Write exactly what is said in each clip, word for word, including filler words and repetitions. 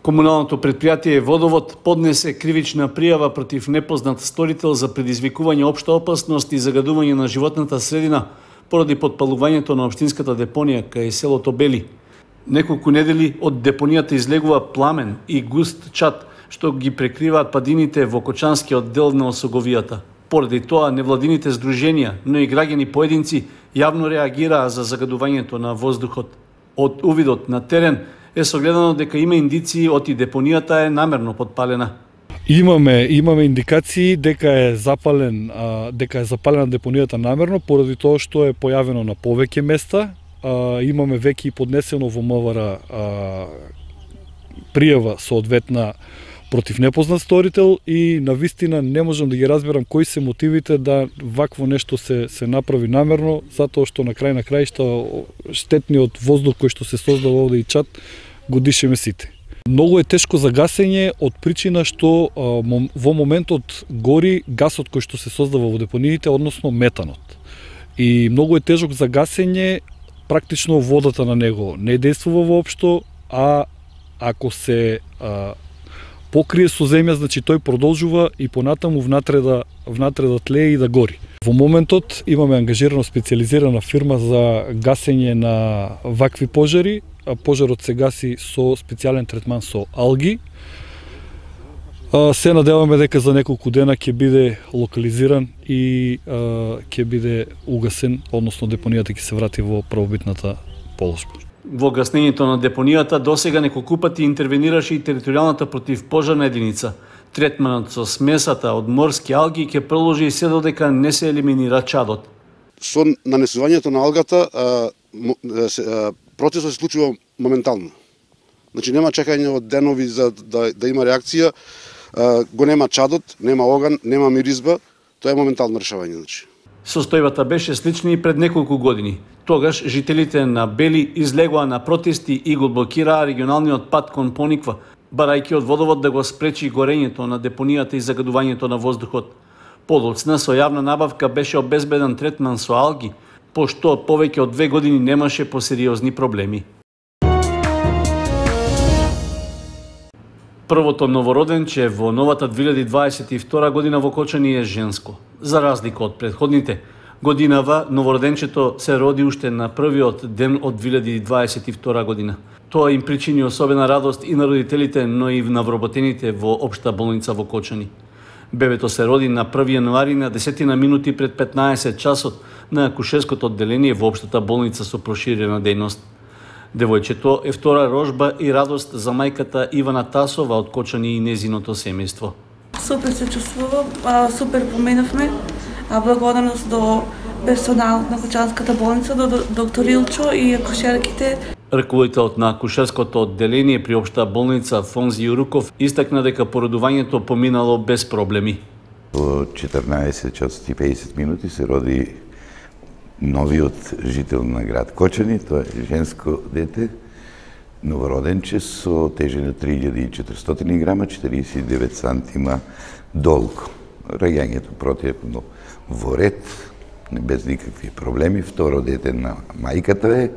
Комуналното предпријатие Водовод поднесе кривична пријава против непознат сторител за предизвикување општа опасност и загадување на животната средина поради подпалувањето на општинската депонија кај селото Бели. Неколку недели од депонијата излегува пламен и густ чад, што ги прекриваат падините во Кочанскиот дел на Осоговијата. Поради тоа, невладините здруженија, но и граѓани поединци јавно реагираа за загадувањето на воздухот. Од увидот на терен е согледано дека има индиции оти депонијата е намерно подпалена. Имаме имаме индикации дека е запален а, дека е запалена депонијата намерно поради тоа што е појавено на повеќе места. А, имаме веќе и поднесено во МВР пријава соодветна против непознат сторител и навистина не можам да ги разберам кои се мотивите да вакво нешто се се направи намерно, затоа што на крај на краишта штетниот воздух кој што се создава овде и чад го дишеме сите. Многу е тешко за гасење од причина што а, во моментот гори гасот кој што се создава во депониите, односно метанот. И многу е тежок за гасење, практично водата на него не действува воопшто, а ако се а, покрие со земја, значи тој продолжува и понатаму внатре да, внатре да тлее и да гори. Во моментот имаме ангажирана специјализирана фирма за гасење на вакви пожари. Пожарот се гаси со специјален третман со алги. Се надеваме дека за неколку дена ќе биде локализиран и ќе биде угасен, односно депонијата ќе се врати во правобитната положба. Во гаснењето на депонијата досега неколку пати интервенираше и територијалната противпожарна единица. Третманот со смесата од морски алги ќе продолжи и се додека не се елиминира чадот. Со нанесувањето на алгата процесот се случува моментално. Значи нема чекање од денови за да, да има реакција, го нема чадот, нема оган, нема миризба, тоа е моментално решавање. Значи. Состојбата беше слична и пред неколку години. Тогаш жителите на Бели излегоа на протести и го блокираа регионалниот пат кон Пониква, барајќи од Водовод да го спречи горењето на депонијата и загадувањето на воздухот. Подоцна со јавна набавка беше обезбеден третман со алги, пошто повеќе од две години немаше посериозни проблеми. Првото новороденче во новата две илјади дваесет и втора година во Кочани е женско. За разлика од претходните, годинава новороденчето се роди уште на првиот ден од две илјади дваесет и втора година. Тоа им причини особена радост и на родителите, но и на вработените во Општа болница во Кочани. Бебето се роди на први јануари на десетина минути пред петнаесет часот на акушерското одделение во Општата болница со проширена дејност. Девојчето е втора рожба и радост за мајката Ивана Тасова од Кочани и незиното семејство. Супер се чувствувам, супер поминавме. Благодарност до персоналот на Кочанската болница, до доктор Илчо и акушерките. Ръководителот на акушерското одделение при Општа болница Фонзи Јуруков истакна дека породувањето поминало без проблеми. Во четрнаесет часот и педесет минути се роди новиот жител на град Кочани, тоа е женско дете, новороденче со тежина три илјади и четиристотини грама, четириесет и девет сантима долго. Раѓањето противно во ред, без никакви проблеми. Второ дете на мајката е.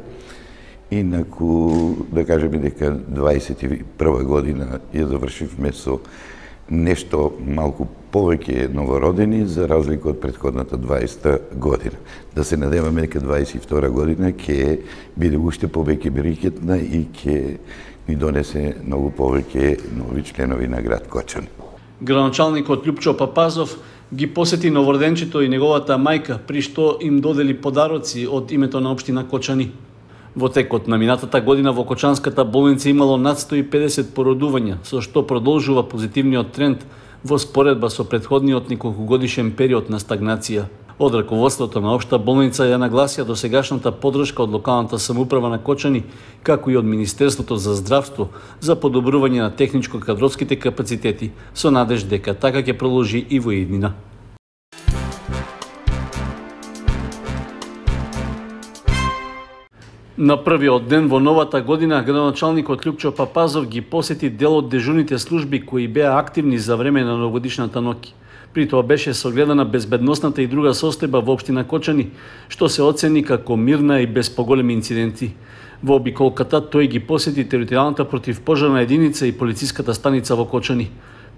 Инаку, да кажеме дека дваесет и прва година ја завршивме со нешто малку повеќе новородени за разлика од претходната дваесета година. Да се надеваме дека дваесет и втора година ќе биде уште повеќе берикетна и ќе ни донесе многу повеќе нови членови на град Кочани. Градоначалникот Љупчо Папазов ги посети новороденчето и неговата мајка, при што им додели подароци од името на општина Кочани. Во текот на минатата година во Кочанската болница имало над сто и педесет породувања, со што продолжува позитивниот тренд во споредба со претходниот неколкугодишен период на стагнација. Од раководството на Општа болница ја нагласија досегашната поддршка од локалната самоуправа на Кочани, како и од Министерството за здравство, за подобрување на техничко-кадровските капацитети, со надеж дека така ќе продолжи и во иднина. На првиот ден во новата година, градоначалникот Љупчо Папазов ги посети дел од дежурните служби кои беа активни за време на новогодишната ноќ. При тоа беше согледана безбедносната и друга состојба во општина Кочани, што се оцени како мирна и без поголеми инциденти. Во обиколката тој ги посети територијалната противпожарна единица и полициската станица во Кочани.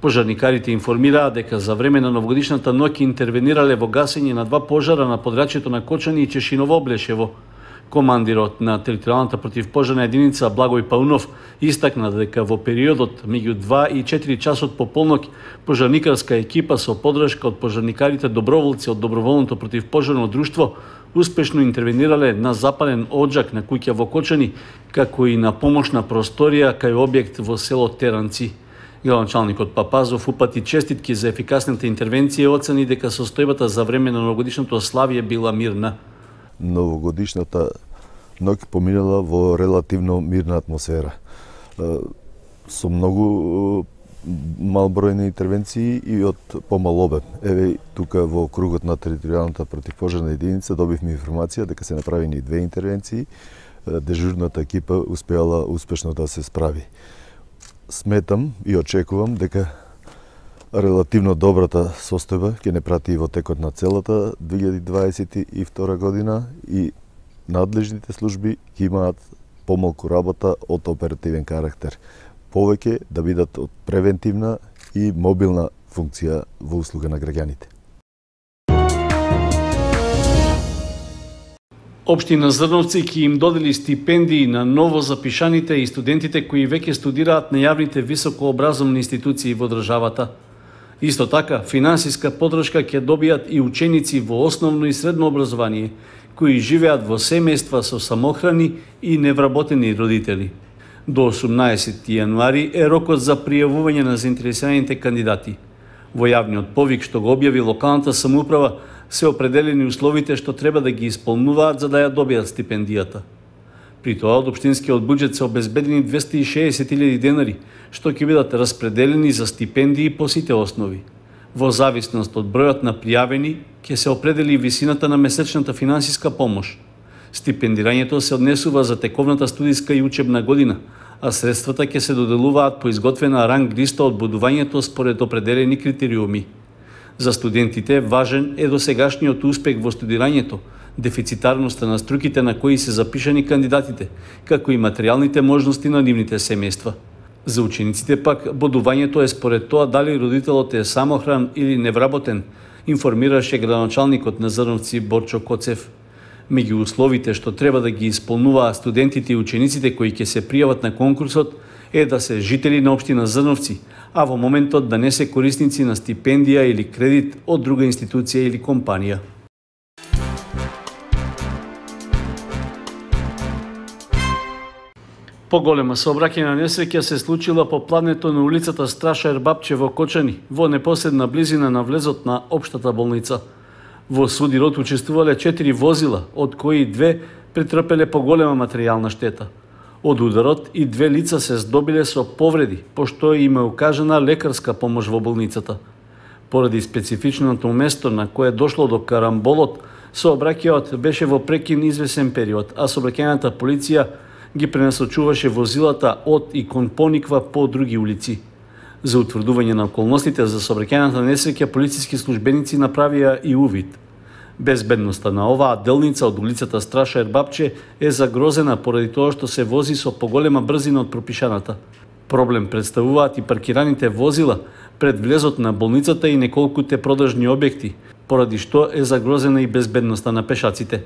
Пожарникарите информираа дека за време на новогодишната ноќ интервенирале во гасење на два пожара на подрачјето на Кочани и Чешиново Облешево. Командирот на територијалната противпожарна единица Благој Паунов истакна дека во периодот меѓу два и четири часот по полноќ пожарникарска екипа со поддршка од пожарникарите доброволци од доброволното противпожарно друштво успешно интервенирале на запален оджак на куќа во Кочани, како и на помошна просторија кај објект во село Теранци. Градоначалникот Папазов упати честитки за ефикасната интервенција и оцени дека состојбата за време на новогодишното славие била мирна. Новогодишната ноќ поминала во релативно мирна атмосфера. Со многу малбројни интервенции и од помал обем. Еве тука во кругот на територијалната противпожарна единица добивме информација дека се направени две интервенции. Дежурната екипа успеала успешно да се справи. Сметам и очекувам дека релативно добрата состојба ќе не прати и во текот на целата две илјади дваесет и втора година и надлежните служби ќе имаат помалку работа од оперативен карактер. Повеќе да бидат од превентивна и мобилна функција во услуга на граѓаните. Општина Зрновци ќе им додели стипендии на ново запишаните и студентите кои веќе студираат на јавните високообразовни институции во државата. Исто така, финансиска поддршка ќе добијат и ученици во основно и средно образование, кои живеат во семејства со самохрани и невработени родители. До осумнаесети јануари е рокот за пријавување на заинтересираните кандидати. Во јавниот повик што го објави локалната самоуправа се определени условите што треба да ги исполнуваат за да ја добијат стипендијата. При тоа од општинскиот буџет се обезбедени двесте и шеесет илјади денари, што ќе бидат распределени за стипендии по сите основи. Во зависност од бројот на пријавени, ќе се определи висината на месечната финансиска помош. Стипендирањето се однесува за тековната студиска и учебна година, а средствата ќе се доделуваат по изготвена ранг листа од бодувањето според определени критериуми. За студентите важен е досегашниот успех во студирањето, дефицитарноста на струките на кои се запишани кандидатите, како и материјалните можности на нивните семејства. За учениците пак бодувањето е според тоа дали родителот е самохран или невработен, информираше градоначалникот на Зрновци Борчо Коцев. Меѓу условите што треба да ги исполнуваат студентите и учениците кои ќе се пријават на конкурсот е да се жители на општина Зрновци, а во моментот да не се корисници на стипендија или кредит од друга институција или компанија. Поголема сообраќајна несреќа се случила по плането на улицата Страша Ербапче во Кочани, во непосредна близина на влезот на општата болница. Во судирот учествувале четири возила, од кои две претрпеле поголема материјална штета. Од ударот и две лица се здобиле со повреди, пошто им е укажана лекарска помош во болницата. Поради специфичното место на кое дошло до карамболот, сообраќајот беше во прекин извесен период, а сообраќајната полиција ги пренасочуваше возилата од и кон Пониква по други улици. За утврдување на околностите за сообраќајната несреќа, полициски службеници направија и увид. Безбедноста на оваа делница од улицата Страша Ербапче е загрозена поради тоа што се вози со поголема брзина од пропишаната. Проблем представуваат и паркираните возила пред влезот на болницата и неколкуте продажни објекти, поради што е загрозена и безбедноста на пешаците.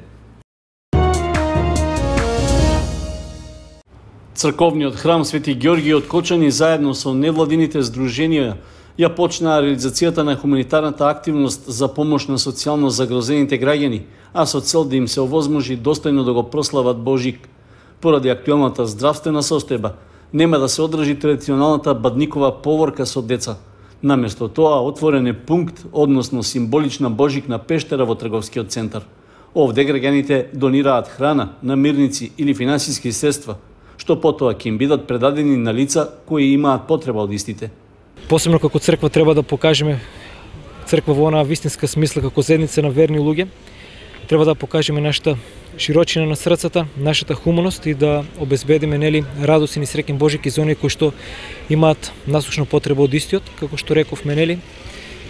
Црковниот храм Свети Ѓорги од Кочани заедно со невладините здруженија ја почнаа реализацијата на хуманитарната активност за помош на социјално загрозените граѓани, а со цел да им се овозможи достојно да го прослават Божик. Поради актуелната здравствена состојба, нема да се одржи традиционалната бадникова поворка со деца. Наместо тоа, отворен е пункт, односно символична Божикна пештера во трговскиот центар. Овде граѓаните донираат храна, намирници или финансиски средства, што потоа ќе им бидат предадени на лица кои имаат потреба од истите. Посебно како црква треба да покажеме црква во онаа вистинска смисла како заедница на верни луѓе. Треба да покажеме нашата широчина на срцата, нашата хуманост и да обезбедиме нели радосен и среќен Божик и за оние кои што имаат насушна потреба од истиот, како што рековме нели.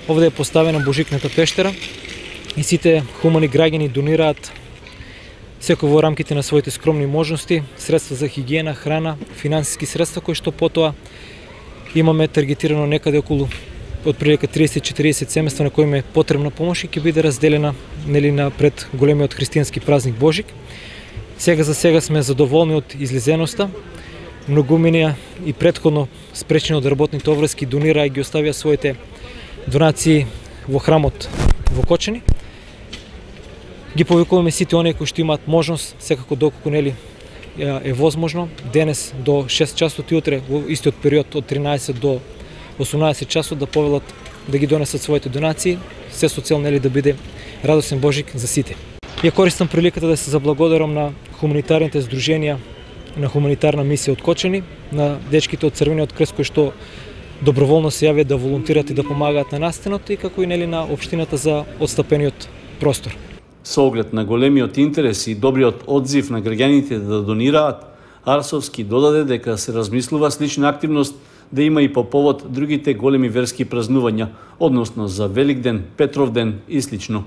Овде е поставена Божикната пештера и сите хумани граѓани донираат секој во рамките на своите скромни можности, средства за хигиена, храна, финансиски средства кои што потоа имаме таргетирано некаде околу отприлика триесет до четириесет семејства на кои им е потребна помош и ќе биде разделена нели на пред големиот христијански празник Божик. Сега за сега сме задоволни од излизеноста. Многуминија и претходно спречени од работните обврски донираа и ги оставија своите донации во храмот во Кочани. Ги повикуваме сите оние кои што имаат можност, секако доколку нели е возможно, денес до шест часот и утре во истиот период од тринаесет до осумнаесет часот да повелат да ги донесат своите донации, се со цел нели да биде радосен Божик за сите. Ја користам приликата да се заблагодарам на хуманитарните здруженија на хуманитарна мисија од Кочани, на дечките од Црвениот крест кои што доброволно се јавиат да волонтират и да помагаат на настанот и како и нели на општината за отстапениот простор. Со оглед на големиот интерес и добриот одзив на граѓаните да донираат, Арсовски додаде дека се размислува слична активност да има и по повод другите големи верски празнувања, односно за Великден, Петровден и слично.